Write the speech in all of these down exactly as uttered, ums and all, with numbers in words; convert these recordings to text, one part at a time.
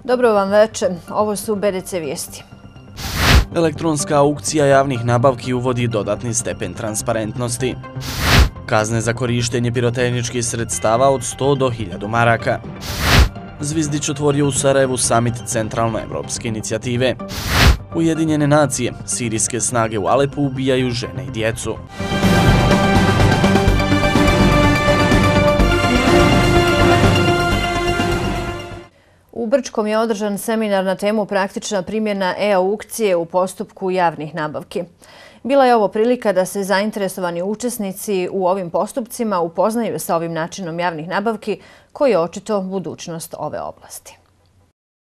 Dobro vam večer, ovo su B D C vijesti. Elektronska aukcija javnih nabavki uvodi dodatni stepen transparentnosti. Kazne za korištenje pirotehničkih sredstava od sto do hiljadu maraka. Zvizdić otvorio u Sarajevu samit centralnoevropske inicijative. Ujedinjene nacije, sirijske snage u Alepu ubijaju žene i djecu. U Brčkom je održan seminar na temu praktična primjena e-aukcije u postupku javnih nabavki. Bila je ovo prilika da se zainteresovani učesnici u ovim postupcima upoznaju sa ovim načinom javnih nabavki, koji je očito budućnost ove oblasti.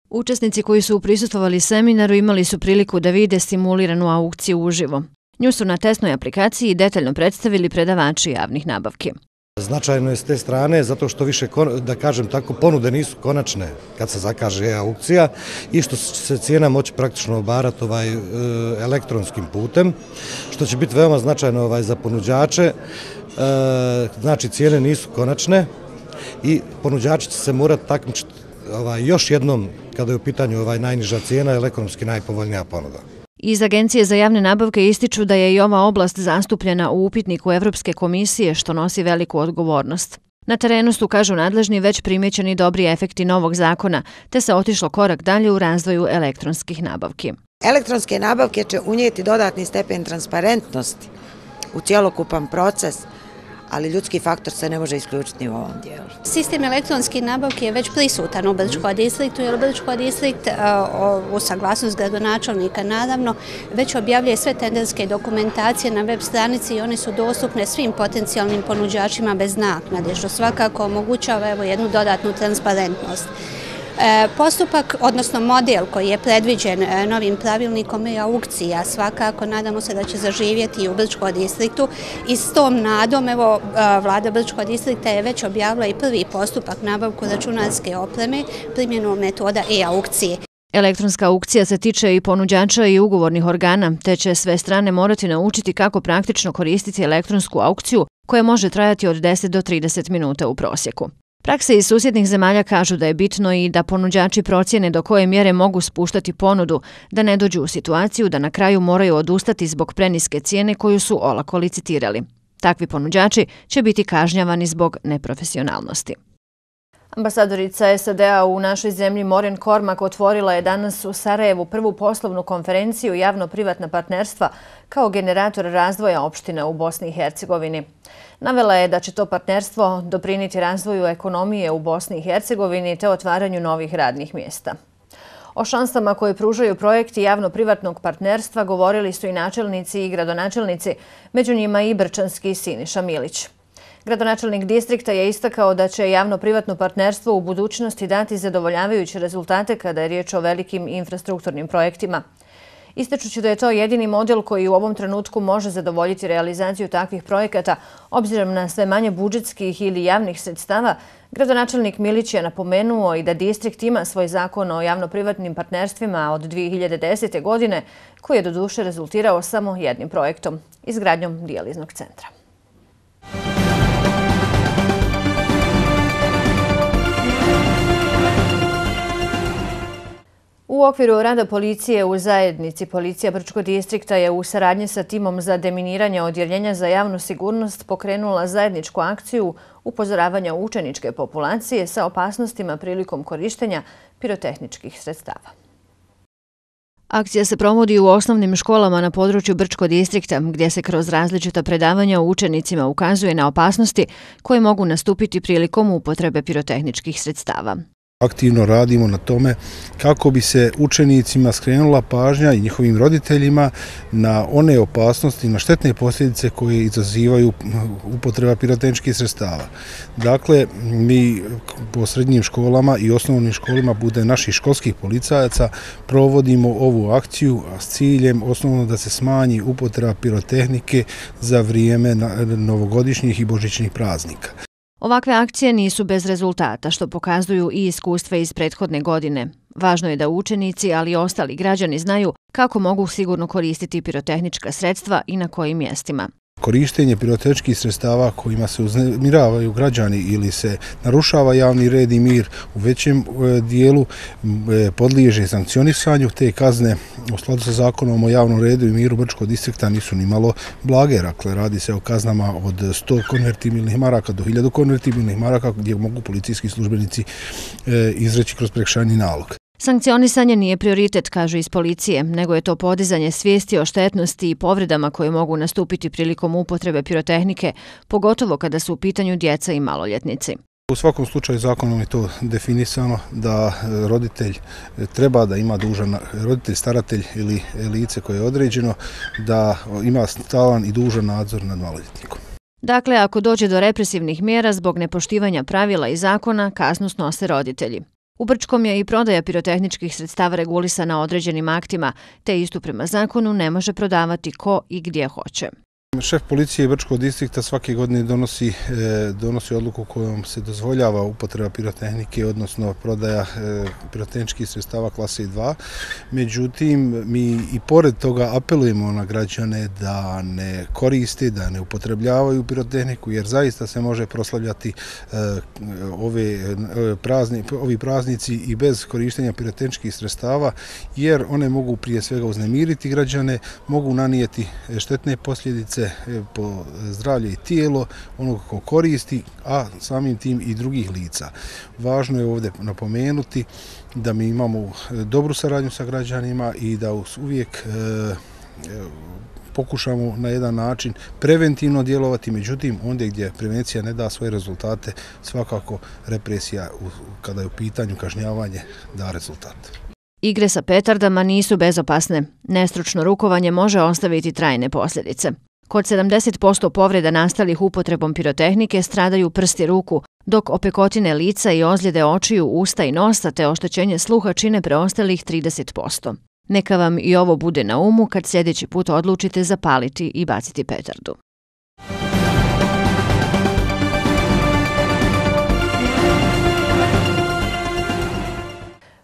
Učesnici koji su prisustvovali seminaru imali su priliku da vide simuliranu aukciju uživo. Nju su na testnoj aplikaciji detaljno predstavili predavači javnih nabavki. Značajno je s te strane zato što više, da kažem tako, ponude nisu konačne kad se zakaže e-aukcija i što će se cijena moći praktično obarati ovaj, elektronskim putem, što će biti veoma značajno ovaj, za ponuđače. Znači, cijene nisu konačne i ponuđači će se morati takmičiti ovaj, još jednom kada je u pitanju ovaj, najniža cijena, elektronski najpovoljnija ponuda. Iz Agencije za javne nabavke ističu da je i ova oblast zastupljena u upitniku Evropske komisije, što nosi veliku odgovornost. Na terenu su, kažu nadležni, već primjećeni dobri efekti novog zakona, te se otišlo korak dalje u razvoju elektronskih nabavki. Elektronske nabavke će unijeti dodatni stepen transparentnosti u cjelokupan proces, ali ljudski faktor se ne može isključiti u ovom dijelu. Sistem elektronske nabavke je već prisutan u Brčkom distriktu, jer Brčki distrikt u saglasnost gradonačelnika naravno već objavljuje sve tenderske dokumentacije na web stranici i one su dostupne svim potencijalnim ponuđačima bez naknade, što svakako omogućava evo jednu dodatnu transparentnost. Postupak, odnosno model koji je predviđen novim pravilnikom e-aukcija, svakako nadamo se da će zaživjeti i u Brčkom distriktu i s tom nadom, evo, vlada Brčkog distrikta je već objavila i prvi postupak nabavku računarske opreme primjenom metoda e-aukcije. Elektronska aukcija se tiče i ponuđača i ugovornih organa, te će sve strane morati naučiti kako praktično koristiti elektronsku aukciju koja može trajati od deset do trideset minuta u prosjeku. Prakse iz susjednih zemalja kažu da je bitno i da ponuđači procjene do koje mjere mogu spuštati ponudu, da ne dođu u situaciju da na kraju moraju odustati zbog preniske cijene koju su olako licitirali. Takvi ponuđači će biti kažnjavani zbog neprofesionalnosti. Ambasadorica S A D-a u našoj zemlji Maureen Cormack otvorila je danas u Sarajevu prvu poslovnu konferenciju javno-privatna partnerstva kao generator razvoja opština u Bosni i Hercegovini. Navela je da će to partnerstvo doprinijeti razvoju ekonomije u Bosni i Hercegovini te otvaranju novih radnih mjesta. O šansama koje pružaju projekti javno-privatnog partnerstva govorili su i načelnici i gradonačelnici, među njima i brčanski Siniša Milić. Gradonačelnik distrikta je istakao da će javno-privatno partnerstvo u budućnosti dati zadovoljavajuće rezultate kada je riječ o velikim infrastrukturnim projektima. Ističući da je to jedini model koji u ovom trenutku može zadovoljiti realizaciju takvih projekata, obzirom na sve manje budžetskih ili javnih sredstava, gradonačelnik Milić je napomenuo i da distrikt ima svoj zakon o javno-privatnim partnerstvima od dvije hiljade desete. godine, koji je doduše rezultirao samo jednim projektom, izgradnjom dijaliznog centra. U okviru rada policije u zajednici, Policija Brčkog distrikta je u saradnji sa timom za deminiranje Odjeljenja za javnu sigurnost pokrenula zajedničku akciju upozoravanja učeničke populacije sa opasnostima prilikom korištenja pirotehničkih sredstava. Akcija se provodi u osnovnim školama na području Brčkog distrikta, gdje se kroz različita predavanja učenicima ukazuje na opasnosti koje mogu nastupiti prilikom upotrebe pirotehničkih sredstava. Aktivno radimo na tome kako bi se učenicima skrenula pažnja i njihovim roditeljima na one opasnosti, na štetne posljedice koje izazivaju upotreba pirotehničkih sredstava. Dakle, mi po srednjim školama i osnovnim školama bude naših školskih policajaca provodimo ovu akciju s ciljem osnovno da se smanji upotreba pirotehnike za vrijeme novogodišnjih i božićnih praznika. Ovakve akcije nisu bez rezultata, što pokazuju i iskustva iz prethodne godine. Važno je da učenici, ali i ostali građani znaju kako mogu sigurno koristiti pirotehnička sredstva i na kojim mjestima. Korištenje pirotehničkih sredstava kojima se uznemiravaju građani ili se narušava javni red i mir u većem dijelu podliježe sankcionisanju. Te kazne u skladu sa zakonom o javnom redu i miru Brčkog distrikta nisu ni malo blage. Dakle, radi se o kaznama od sto konvertibilnih maraka do hiljadu konvertibilnih maraka gdje mogu policijski službenici izreći kroz prekršajni nalog. Sankcionisanje nije prioritet, kažu iz policije, nego je to podizanje svijesti o štetnosti i povredama koje mogu nastupiti prilikom upotrebe pirotehnike, pogotovo kada su u pitanju djeca i maloljetnici. U svakom slučaju zakonom je to definisano da roditelj treba da ima dužan, roditelj, staratelj ili lice koje je određeno, da ima stalan i dužan nadzor nad maloljetnikom. Dakle, ako dođe do represivnih mjera zbog nepoštivanja pravila i zakona, kaznu snose roditelji. U Brčkom je i prodaja pirotehničkih sredstava regulisana određenim aktima, te istu prema zakonu ne može prodavati ko i gdje hoće. Šef policije Brčkog distrikta svake godine donosi, donosi odluku kojom se dozvoljava upotreba pirotehnike, odnosno prodaja pirotehničkih sredstava klase dva. Međutim, mi i pored toga apelujemo na građane da ne koriste, da ne upotrebljavaju pirotehniku, jer zaista se može proslavljati ove prazni, ovi praznici i bez korištenja pirotehničkih sredstava, jer one mogu prije svega uznemiriti građane, mogu nanijeti štetne posljedice po zdravlje i tijelo onog ko koristi, a samim tim i drugih lica. Važno je ovdje napomenuti da mi imamo dobru saradnju sa građanima i da uvijek pokušamo na jedan način preventivno djelovati, međutim, ondje gdje prevencija ne da svoje rezultate, svakako represija kada je u pitanju kažnjavanje da rezultat. Igre sa petardama nisu bezopasne. Nestručno rukovanje može ostaviti trajne posljedice. Kod sedamdeset posto povreda nastalih upotrebom pirotehnike stradaju prsti ruku, dok opekotine lica i ozljede očiju, usta i nosa te oštećenje sluha čine preostalih trideset posto. Neka vam i ovo bude na umu kad sljedeći put odlučite zapaliti i baciti petardu.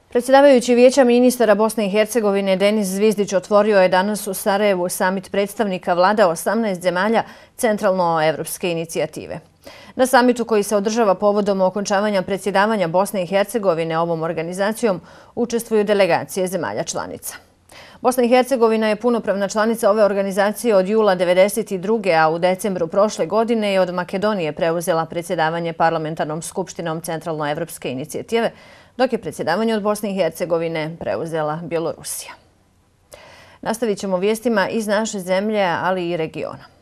Predsjedavajući Vijeća ministara Bosne i Hercegovine Denis Zvizdić otvorio je danas u Sarajevu samit predstavnika vlada osamnaest zemalja centralnoevropske inicijative. Na samitu koji se održava povodom okončavanja predsjedavanja Bosne i Hercegovine ovom organizacijom učestvuju delegacije zemalja članica. Bosna i Hercegovina je punopravna članica ove organizacije od jula devedeset druge. a u decembru prošle godine je od Makedonije preuzela predsjedavanje parlamentarnom skupštinom centralnoevropske inicijative, dok je predsjedavanje od Bosne i Hercegovine preuzela Bjelorusija. Nastavit ćemo vijestima iz naše zemlje, ali i regiona.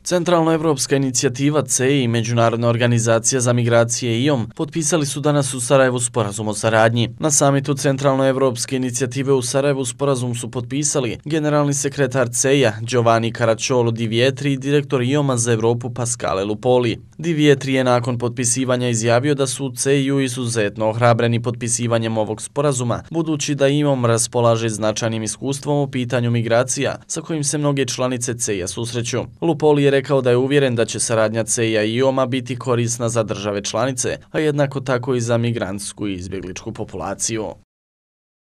Centralnoevropska inicijativa C E I i Međunarodna organizacija za migracije I O M potpisali su danas u Sarajevu sporazum o saradnji. Na samitu Centralnoevropske inicijative u Sarajevu sporazum su potpisali generalni sekretar C E I-a Giovanni Caracciolo Di Vietri i direktor I O M-a za Evropu Pascale Lupoli. Di Vietri je nakon potpisivanja izjavio da su u C E I-u izuzetno ohrabreni potpisivanjem ovog sporazuma, budući da I O M raspolaže značajnim iskustvom u pitanju migracija sa kojim se mnoge članice C E I-a susreću. Lupoli je rekao da je uvjeren da će saradnja C E I-a i I O M-a biti korisna za države članice, a jednako tako i za migrantsku i izbjegličku populaciju.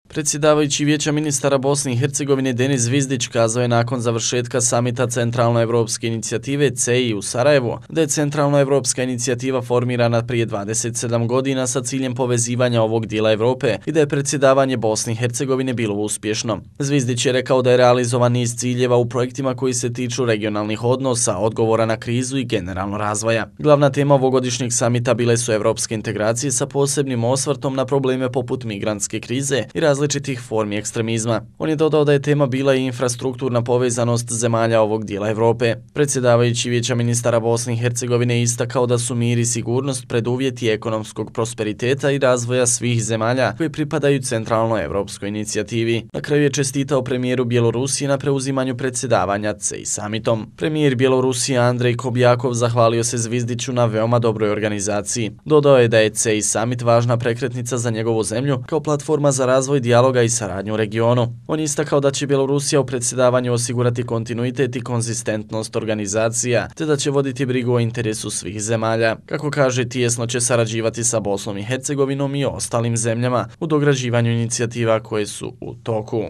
Predsjedavajući Vijeća ministara Bosne i Hercegovine Denis Zvizdić kazao je nakon završetka samita Centralnoevropske inicijative C E I u Sarajevu da je Centralnoevropska inicijativa formirana prije dvadeset sedam godina sa ciljem povezivanja ovog dijela Evrope i da je predsjedavanje Bosne i Hercegovine bilo uspješno. Zvizdić je rekao da je realizovan niz ciljeva u projektima koji se tiču regionalnih odnosa, odgovora na krizu i generalno razvoja. Glavna tema ovogodišnjeg samita bile su evropske integracije sa posebnim osvrtom na probleme poput migrantske krize i različitih formi ekstremizma. On je dodao da je tema bila i infrastrukturna povezanost zemalja ovog dijela Evrope. Predsjedavajući Vijeća ministara Bosne i Hercegovine istakao da su mir i sigurnost preduvjeti ekonomskog prosperiteta i razvoja svih zemalja koji pripadaju Centralnoevropskoj inicijativi. Na kraju je čestitao premijeru Bjelorusije na preuzimanju predsjedavanja C E I samitom. Premijer Bjelorusije Andrej Kobjakov zahvalio se Zvizdiću na veoma dobroj organizaciji. Dodao je da je C E I samit važna prekretnica za njegovu zemlju kao platforma za razvoj dijaloga i saradnju u regionu. On je istakao da će Bjelorusija u predsjedavanju osigurati kontinuitet i konzistentnost organizacija, te da će voditi brigu o interesu svih zemalja. Kako kaže, tijesno će sarađivati sa Bosnom i Hercegovinom i ostalim zemljama u dograđivanju inicijativa koje su u toku.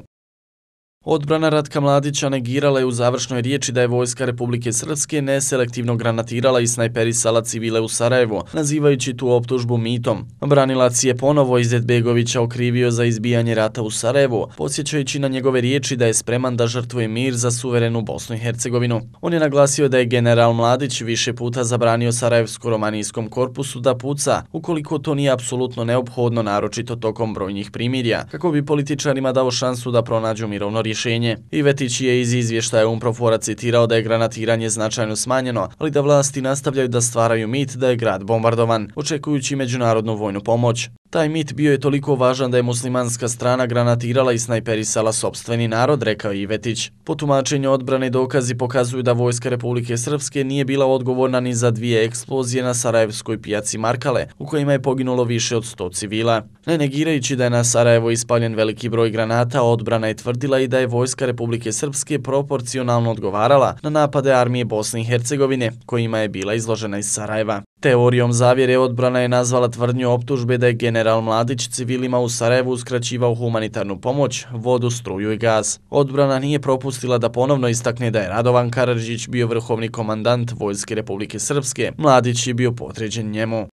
Odbrana Ratka Mladića negirala je u završnoj riječi da je Vojska Republike Srpske neselektivno granatirala i snajperisala civile u Sarajevo, nazivajući tu optužbu mitom. Branilac je ponovo Izetbegovića okrivio za izbijanje rata u Sarajevu, podsjećajući na njegove riječi da je spreman da žrtvuje mir za suverenu Bosnu i Hercegovinu. On je naglasio da je general Mladić više puta zabranio Sarajevsko-romanijskom korpusu da puca, ukoliko to nije apsolutno neophodno, naročito tokom brojnih primirja, kako bi političarima dao šansu da pronađu mirovno rješenje. Ivetić je iz izvještaja Unprofora citirao da je granatiranje značajno smanjeno, ali da vlasti nastavljaju da stvaraju mit da je grad bombardovan, očekujući međunarodnu vojnu pomoć. Taj mit bio je toliko važan da je muslimanska strana granatirala i snajperisala sopstveni narod, rekao je Ivetić. Po tumačenju odbrane dokazi pokazuju da Vojska Republike Srpske nije bila odgovorna ni za dvije eksplozije na sarajevskoj pijaci Markale, u kojima je poginulo više od sto civila. Ne negirajući da je na Sarajevo ispaljen veliki broj granata, odbrana je tvrdila i da je Vojska Republike Srpske proporcionalno odgovarala na napade armije Bosne i Hercegovine, kojima je bila izložena iz Sarajeva. Teorijom zavjere odbrana je nazvala tvrdnju optužbe da je general Mladić civilima u Sarajevu uskraćivao humanitarnu pomoć, vodu, struju i gaz. Odbrana nije propustila da ponovno istakne da je Radovan Karadžić bio vrhovni komandant Vojske Republike Srpske, Mladić je bio podređen njemu.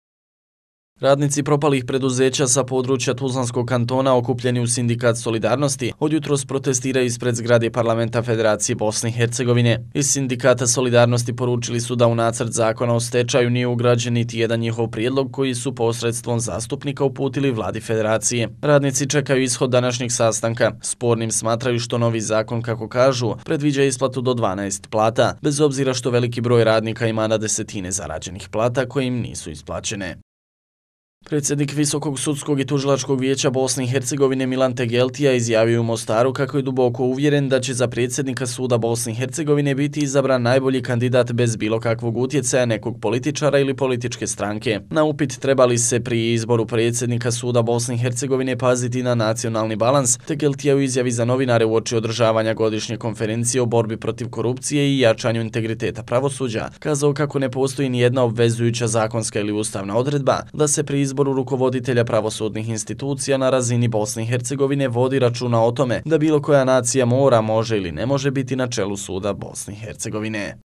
Radnici propalih preduzeća sa područja Tuzlanskog kantona okupljeni u Sindikat Solidarnosti odjutros protestiraju ispred zgrade Parlamenta Federacije Bosne i Hercegovine. Iz Sindikata Solidarnosti poručili su da u nacrt zakona o stečaju nije ugrađen niti jedan njihov prijedlog koji su posredstvom zastupnika uputili vladi Federacije. Radnici čekaju ishod današnjeg sastanka. Spornim smatraju što novi zakon, kako kažu, predviđa isplatu do dvanaest plata, bez obzira što veliki broj radnika ima na desetine zarađenih plata koje im nisu isplaćene. Predsjednik Visokog sudskog i tužilačkog vijeća Bosne i Hercegovine Milan Tegeltija izjavio u Mostaru kako je duboko uvjeren da će za predsjednika suda Bosne i Hercegovine biti izabran najbolji kandidat bez bilo kakvog utjecaja nekog političara ili političke stranke. Na upit treba li se pri izboru predsjednika suda Bosne i Hercegovine paziti na nacionalni balans, Tegeltija u izjavi za novinare uoči održavanja godišnje konferencije o borbi protiv korupcije i jačanju integriteta pravosuđa kazao kako ne postoji ni jedna obvezujuća zakonska ili ustavna odredba da se pri izboru rukovoditelja pravosudnih institucija na razini Bosne i Hercegovine vodi računa o tome da bilo koja nacija mora, može ili ne može biti na čelu suda Bosne i Hercegovine.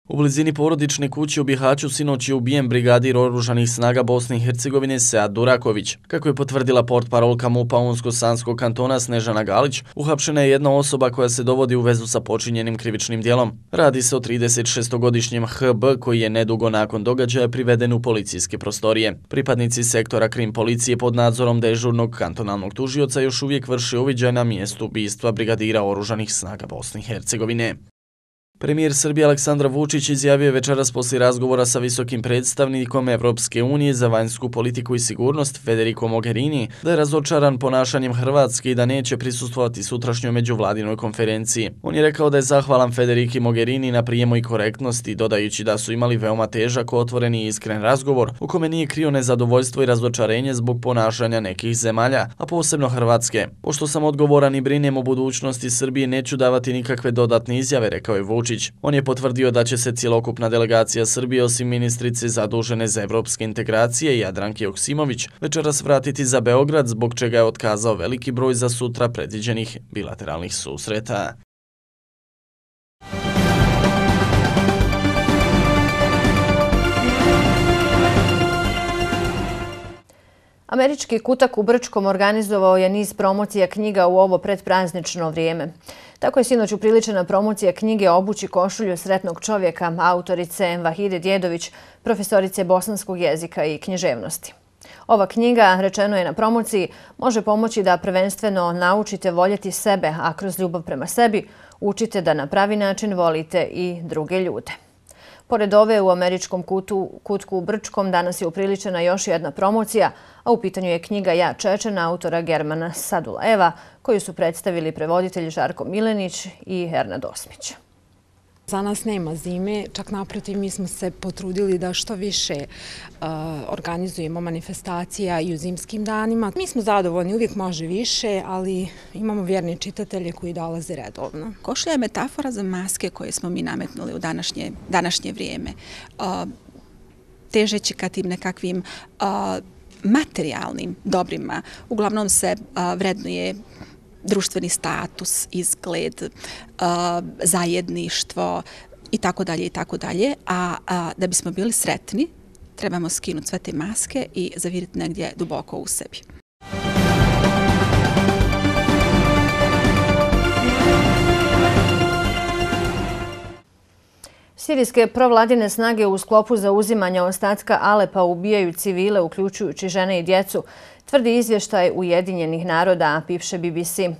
U blizini porodične kuće u Bihaću sinoć je ubijen brigadir oružanih snaga Bosne i Hercegovine Sead Duraković. Kako je potvrdila portparolka MUP-a Unsko-Sanskog kantona Snežana Galić, uhapšena je jedna osoba koja se dovodi u vezu sa počinjenim krivičnim djelom. Radi se o tridesetšestogodišnjem H B koji je nedugo nakon događaja priveden u policijske prostorije. Pripadnici sektora krim policije pod nadzorom dežurnog kantonalnog tužioca još uvijek vrše uviđaj na mjestu ubistva brigadira oružanih snaga Bosne i Hercegovine. Premijer Srbije Aleksandar Vučić izjavio je večeras poslije razgovora sa visokim predstavnikom Evropske unije za vanjsku politiku i sigurnost Federico Mogherini da je razočaran ponašanjem Hrvatske i da neće prisustvovati sutrašnjoj međuvladinoj konferenciji. On je rekao da je zahvalan Federici Mogherini na prijemu i korektnosti, dodajući da su imali veoma težak, otvoreni i iskren razgovor u kome nije krio nezadovoljstvo i razočarenje zbog ponašanja nekih zemalja, a posebno Hrvatske. Pošto sam odgovoran i brinem o budućnosti Srbije, neću davati nikakve dodatne izjave, rekao je Vučić. On je potvrdio da će se cjelokupna delegacija Srbije osim ministrice zadužene za evropske integracije Jadranke Joksimović večeras vratiti za Beograd, zbog čega je otkazao veliki broj za sutra predviđenih bilateralnih susreta. Američki kutak u Brčkom organizovao je niz promocija knjiga u ovo predpraznično vrijeme. Tako je sinoć upriličena promocija knjige Obući košulju sretnog čovjeka autorice Vahide Djedović, profesorice bosanskog jezika i književnosti. Ova knjiga, rečeno je na promociji, može pomoći da prvenstveno naučite voljeti sebe, a kroz ljubav prema sebi učite da na pravi način volite i druge ljude. Pored ove u američkom kutu, kutku u Brčkom danas je upriličena još jedna promocija, a u pitanju je knjiga Ja Čečen autora Germana Sadulajeva, koju su predstavili prevoditelji Žarko Milenić i Ernad Osmić. Za nas nema zime, čak naprotiv mi smo se potrudili da što više uh, organizujemo manifestacija i u zimskim danima. Mi smo zadovoljni, uvijek može više, ali imamo vjerne čitatelje koji dolaze redovno. Košulja je metafora za maske koje smo mi nametnuli u današnje, današnje vrijeme. Uh, težeći ka tim nekakvim uh, materijalnim dobrima, uglavnom se uh, vrednuje društveni status, izgled, zajedništvo i tako dalje i tako dalje, a da bismo bili sretni, trebamo skinuti sve te maske i zaviriti negdje duboko u sebi. Sirijske provladine snage u sklopu zauzimanja ostatka Alepa ubijaju civile, uključujući žene i djecu, tvrdi izvještaj Ujedinjenih naroda, piše B B C.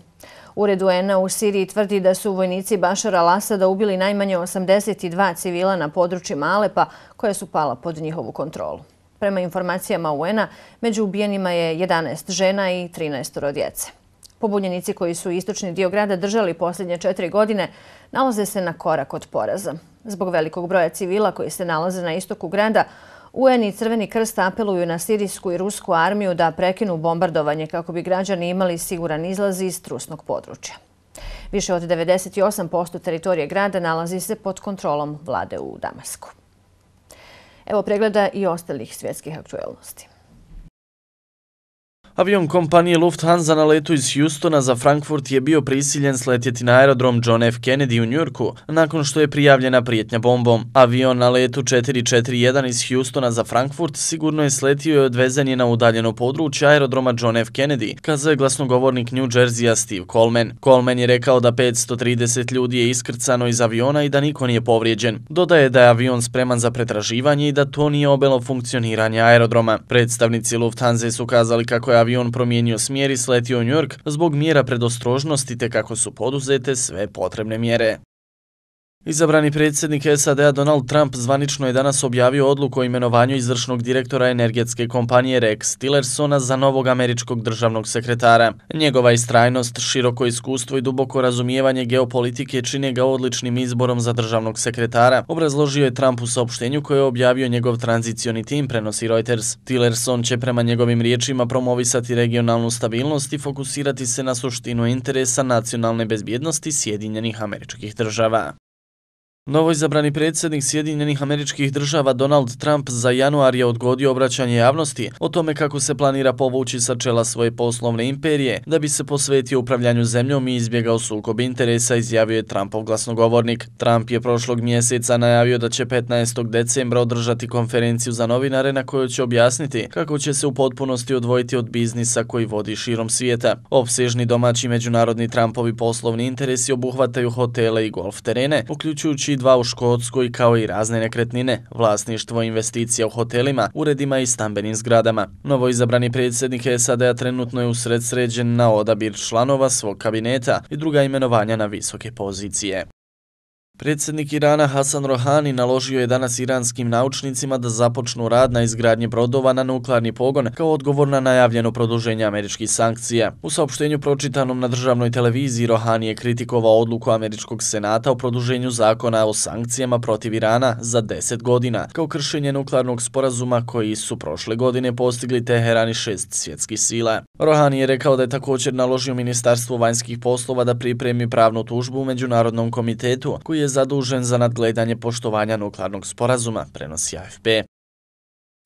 Ured U N-a u Siriji tvrdi da su vojnici Bašara al-Asada ubili najmanje osamdeset dva civila na područjima Alepa, koje su pala pod njihovu kontrolu. Prema informacijama U N-a, među ubijenima je jedanaest žena i trinaest djece. Pobunjenici koji su istočni dio grada držali posljednje četiri godine nalaze se na korak od poraza. Zbog velikog broja civila koji se nalaze na istoku grada, U N i Crveni krst apeluju na sirijsku i rusku armiju da prekinu bombardovanje kako bi građani imali siguran izlaz iz trusnog područja. Više od devedeset osam posto teritorije grada nalazi se pod kontrolom vlade u Damasku. Evo pregleda i ostalih svjetskih aktuelnosti. Avion kompanije Lufthansa na letu iz Houstona za Frankfurt je bio prisiljen sletjeti na aerodrom John F. Kennedy u Njujorku nakon što je prijavljena prijetnja bombom. Avion na letu četiri četiri jedan iz Houstona za Frankfurt sigurno je sletio i odvezen je na udaljeno područje aerodroma John F. Kennedy, kazao je glasnogovornik New Jerseya Steve Coleman. Coleman je rekao da petsto trideset ljudi je iskrcano iz aviona i da niko nije povrijeđen. Dodaje da je avion spreman za pretraživanje i da to nije obelo funkcioniranje aerodroma. Predstavnici Lufthansa su kazali kako je avion promijenio smjer i sletio u New York zbog mjera predostrožnosti te kako su poduzete sve potrebne mjere. Izabrani predsjednik S A D-a Donald Trump zvanično je danas objavio odluku o imenovanju izvršnog direktora energetske kompanije Rex Tillersona za novog američkog državnog sekretara. Njegova istrajnost, široko iskustvo i duboko razumijevanje geopolitike čine ga odličnim izborom za državnog sekretara, obrazložio je Trump u saopštenju koje je objavio njegov tranzicioni tim, prenosi Reuters. Tillerson će prema njegovim riječima promovisati regionalnu stabilnost i fokusirati se na suštinu interesa nacionalne bezbjednosti Sjedinjenih Američkih Država. Novoizabrani predsjednik Sjedinjenih Američkih Država Donald Trump za januar je odgodio obraćanje javnosti o tome kako se planira povući sa čela svoje poslovne imperije da bi se posvetio upravljanju zemljom i izbjegao sukob interesa, izjavio je Trumpov glasnogovornik. Trump je prošlog mjeseca najavio da će petnaestog decembra održati konferenciju za novinare na kojoj će objasniti kako će se u potpunosti odvojiti od biznisa koji vodi širom svijeta. Opsežni domaći međunarodni Trumpovi poslovni interesi obuhvataju hotele i golf terene, uključujući dva u Škotskoj kao i razne nekretnine, vlasništvo investicija u hotelima, uredima i stambenim zgradama. Novoizabrani predsjednik S A D-a trenutno je usred sređen na odabir članova svog kabineta i druga imenovanja na visoke pozicije. Predsjednik Irana Hasan Rohani naložio je danas iranskim naučnicima da započnu rad na izgradnji brodova na nuklearni pogon kao odgovor na najavljeno produženje američkih sankcija. U saopštenju pročitanom na državnoj televiziji Rohani je kritikovao odluku američkog senata o produženju zakona o sankcijama protiv Irana za deset godina, kao kršenje nuklearnog sporazuma koji su prošle godine postigli Teheran i šest svjetskih sila. Rohani je rekao da je također naložio Ministarstvu vanjskih poslova da pripremi pravnu tužbu u Međunarodnom komitetu koji je je zadužen za nadgledanje poštovanja nuklearnog sporazuma, prenosi A F P.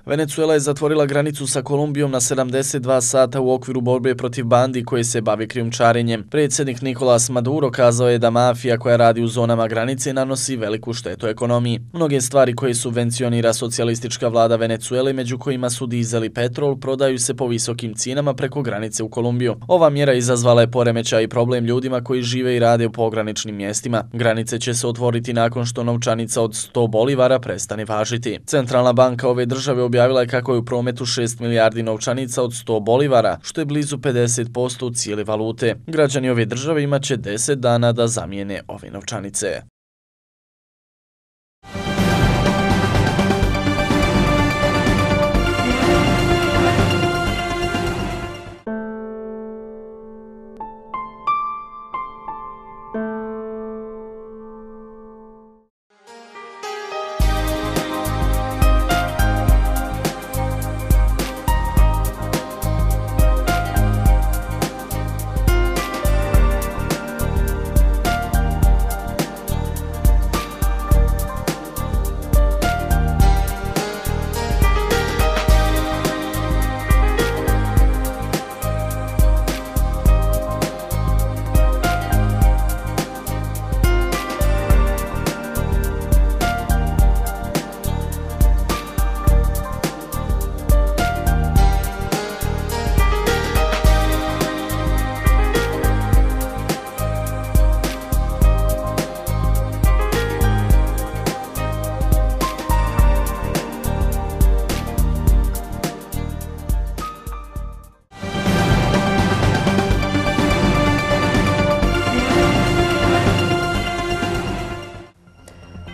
Venezuela je zatvorila granicu sa Kolumbijom na sedamdeset dva sata u okviru borbe protiv bandi koje se bavi krijumčarenjem. Predsjednik Nicolás Maduro kazao je da mafija koja radi u zonama granice nanosi veliku štetu ekonomiji. Mnoge stvari koje subvencionira socijalistička vlada Venezuele, među kojima su dizel i petrol, prodaju se po visokim cijenama preko granice u Kolumbiju. Ova mjera izazvala je poremećaj i problem ljudima koji žive i rade u pograničnim mjestima. Granice će se otvoriti nakon što novčanica od sto bolivara prestane važiti. Centralna banka ove države objavila je kako je u prometu šest milijardi novčanica od sto bolivara, što je blizu pedeset posto cijele valute. Građani ove države imaće deset dana da zamijene ove novčanice.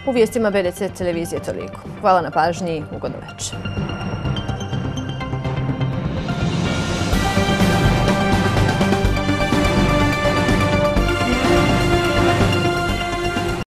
U vijestima B D C televizije toliko. Hvala na pažnji i ugodno večer.